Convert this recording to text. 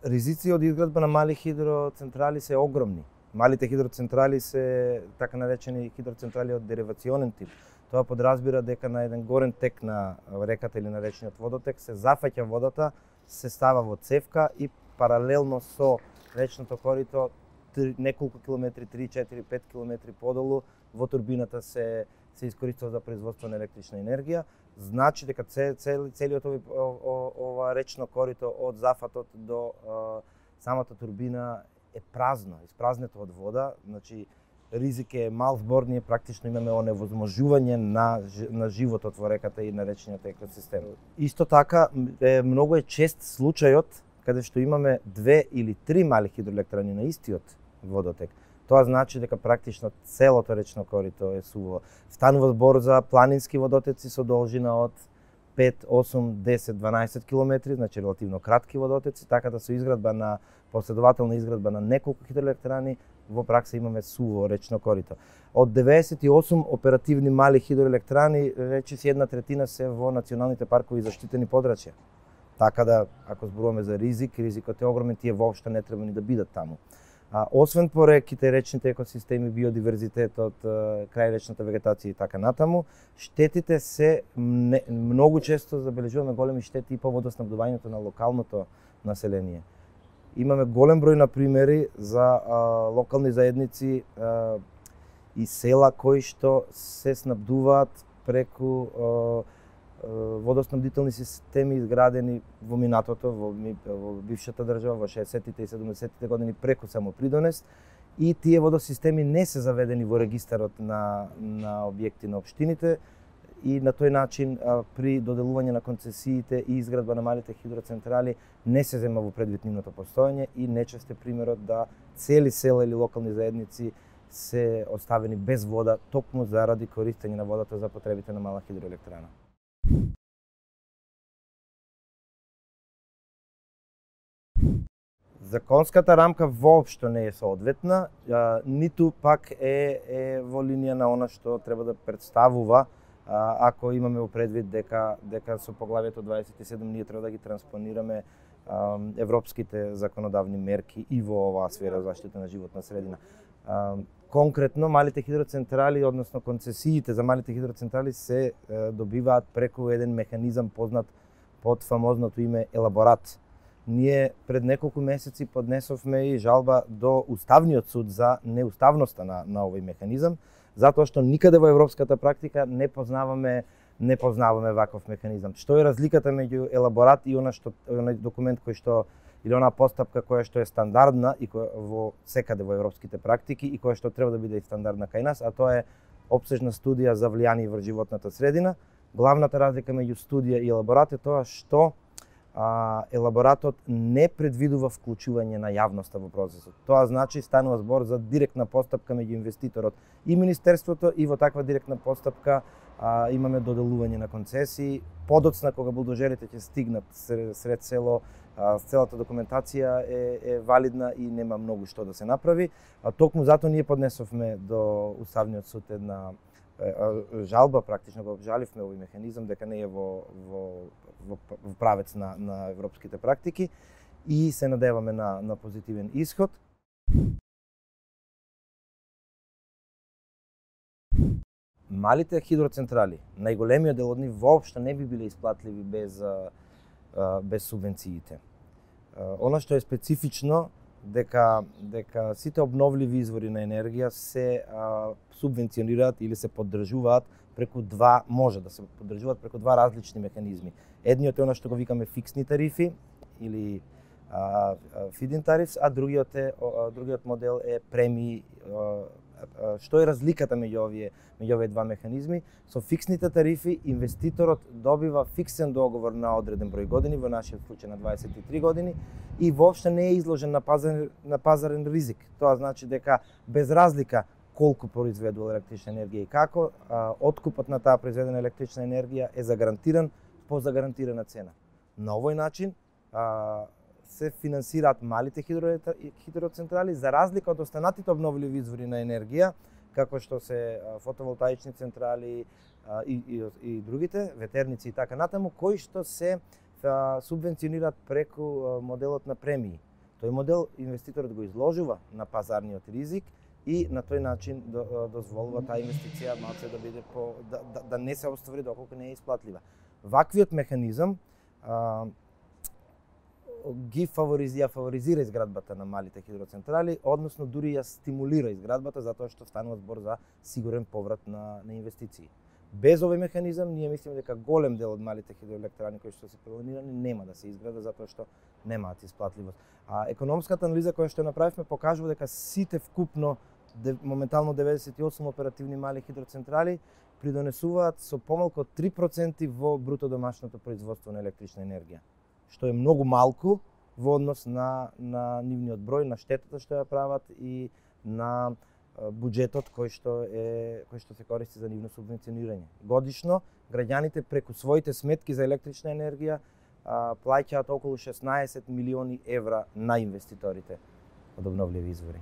Ризици од изградба на мали хидроцентрали се огромни. Малите хидроцентрали се така наречени хидроцентрали од деривационен тип. Тоа подразбира дека на еден горен тек на реката или на речниот водотек се зафаќа водата, се става во цевка и паралелно со речното корито неколку километри, 3, 4, 5 километри подолу во турбината се искористува за производство на електрична енергија. Значи дека целиот ова речно корито од зафатот до самата турбина е празно, испразнето од вода. Значи ризик е мал збор, ние практично имаме оневозможување на животот во реката и на речниот екосистем. Исто така многу е чест случајот каде што имаме 2 или 3 мали хидроелектрани на истиот водотек. Тоа значи дека практично целото речно корито е суво. Станува збор за планински водотеци со должина од 5, 8, 10, 12 километри, значи релативно кратки водотеци, така да со последователна изградба на неколку хидроелектрани, во пракса имаме суво речно корито. Од 98 оперативни мали хидроелектрани, речиси 1/3 се во националните паркови и заштитени подрачја. Така да, ако зборуваме за ризикот е огромен, тие воопшто не треба ни да бидат таму. Освен пореките, речните екосистеми, биодиверзитетот, крај речната вегетација и така натаму, штетите се многу често забележуваме големи штети и по водоснабдувањето на локалното население. Имаме голем број на примери за локални заедници и села кои што се снабдуваат преку водоснабдителни системи изградени во минатото, во бившата држава, во 60-тите и 70-тите години преку самопридонес, и тие водосистеми не се заведени во регистарот на објекти на општините, и на тој начин при доделување на концесиите и изградба на малите хидроцентрали не се зема во предвид нивното постоење и нечест е примерот да цели села или локални заедници се оставени без вода токму заради користење на водата за потребите на мала хидроелектрана. Законската рамка воопшто не е соодветна, ниту пак е во линија на она што треба да представува ако имаме во предвид дека со поглавието 27 ние треба да ги транспонираме европските законодавни мерки и во оваа сфера заштита на животна средина. Конкретно, малите хидроцентрали, односно концесиите за малите хидроцентрали се добиваат преку еден механизам познат под фамозното име елаборат. Ние пред неколку месеци поднесовме и жалба до Уставниот суд за неуставноста на овој механизам, затоа што никаде во европската практика не познаваме ваков механизам. Што е разликата меѓу елаборат и оној документ кој што или онаа постапка која што е стандардна и во секаде во европските практики и која што треба да биде и стандардна кај нас, а тоа е опсежна студија за влијание врз животната средина. Главната разлика меѓу студија и елаборат е тоа што елаборатот не предвидува вклучување на јавноста во процесот. Тоа значи станува збор за директна постапка меѓу инвеститорот и министерството, и во таква директна постапка имаме доделување на концесии. Подоцна кога булдозерите ќе стигнат сред село, целата документација е валидна и нема многу што да се направи. Токму затоа ние поднесовме до Уставниот суд една жалба, практично го обжаливме овој механизам дека не е во правец на европските практики и се надеваме на позитивен исход. Малите хидроцентрали, најголемиот дел од нив воопшто не би биле исплатливи без субвенциите. Она што е специфично дека сите обновливи извори на енергија се субвенционираат или се поддржуваат преку може да се поддржуваат преку два различни механизми. Едниот е она што го викаме фиксни тарифи или feed-in tariffs, а другиот модел е премии. Што е разликата меѓу овие два механизми? Со фиксните тарифи инвеститорот добива фиксен договор на одреден број години, во нашиот случај на 23 години, и воопшто не е изложен на пазарен ризик. Тоа значи дека без разлика колку произведува електрична енергија и како, откупот на таа произведена електрична енергија е загарантиран по загарантирана цена. На овој начин се финансираат малите хидроцентрали за разлика од останатите обновливи извори на енергија, како што се фотоволтаични централи, и другите, ветерници и така натаму, кои што се субвенционираат преку моделот на премии. Тој модел инвеститорот го изложува на пазарниот ризик и на тој начин дозволува таа инвестиција малце да биде да не се оствари доколку не е исплатлива. Ваквиот механизам ги фаворизира изградбата на малите хидроцентрали, односно дури ја стимулира изградбата затоа што станува збор за сигурен поврат на инвестиции. Без овој механизам ние мислиме дека голем дел од малите хидроелектрани кои што се планирани нема да се изградат затоа што немаат исплатливост. А економската анализа која што направивме покажува дека сите вкупно моментално 98 оперативни мали хидроцентрали придонесуваат со помалку од 3% во бруто домашното производство на електрична енергија, што е многу малку во однос на нивниот број, на штетата што ја прават и на буџетот кој што се користи за нивно субвенционирање. Годишно граѓаните преку своите сметки за електрична енергија плаќаат околу 16 милиони евра на инвеститорите од обновливи извори.